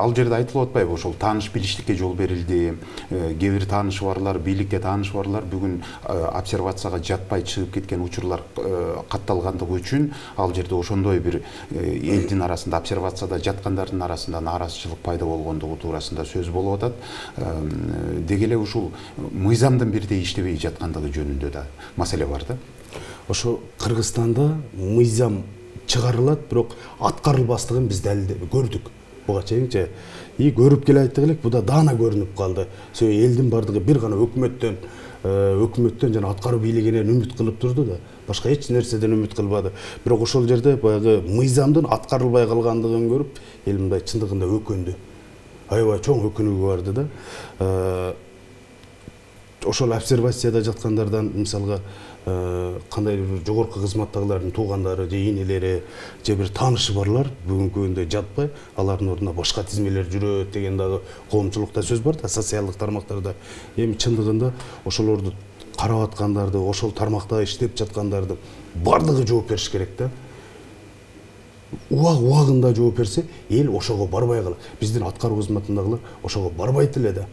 ал жерде айтылып атпайбы, ошол тааныш билиштикке жол берилди. Кээ бир таанышы барлар, бийликте таанышы барлар бүгүн обсервацияга жатпай чыгып кеткен учурлар катталгандыгы үчүн ал жерде ошондой бир элдин арасында, обсервацияда жаткандардын арасында нааразычылык пайда болгондугу туурасында сөз болуп атат. Деги эле ушул мыйзамдын бирдей иштебей жаткандыгы жөнүндө да маселе бар да. Ошо Кыргызстанда мыйзам чыгарылат, бирок аткарылбастыгын биз көрдүк. Буга чейинчи көрүп келе айттык элек, буда даана көрүнүп калды. Элдин бардыгы бир гана өкмөттөн жана аткаруу бийлигинен үмүт кылып турду да, башка эч нерседен үмүт кылбады. Бирок ошол жерде баягы мыйзамдын аткарылбай калгандыгын көрүп, эл мындай чындыгында өкүндү. Аябай чоң өкүнүүгө барды да. Ошол обсервацияда жаткандардан мисалга кандайдыр бир жогорку кызматтагылардын туугандары же энелери же бир таанышы барлар бүгүнкү күндө жатпай, алардын ордуна башка тизмелер жүрөт деген дагы коомчулукта сөз бар да, социалдык тармактарда. Эми чындыгында ошолорду карап аткандарды, ошол тармакта иштеп жаткандарды бардыгы жооп бериш керек да. Убагында жооп берсе, эл ошого барбай калат. Биздин аткаруу кызматындагылар ошого барбайт эле да.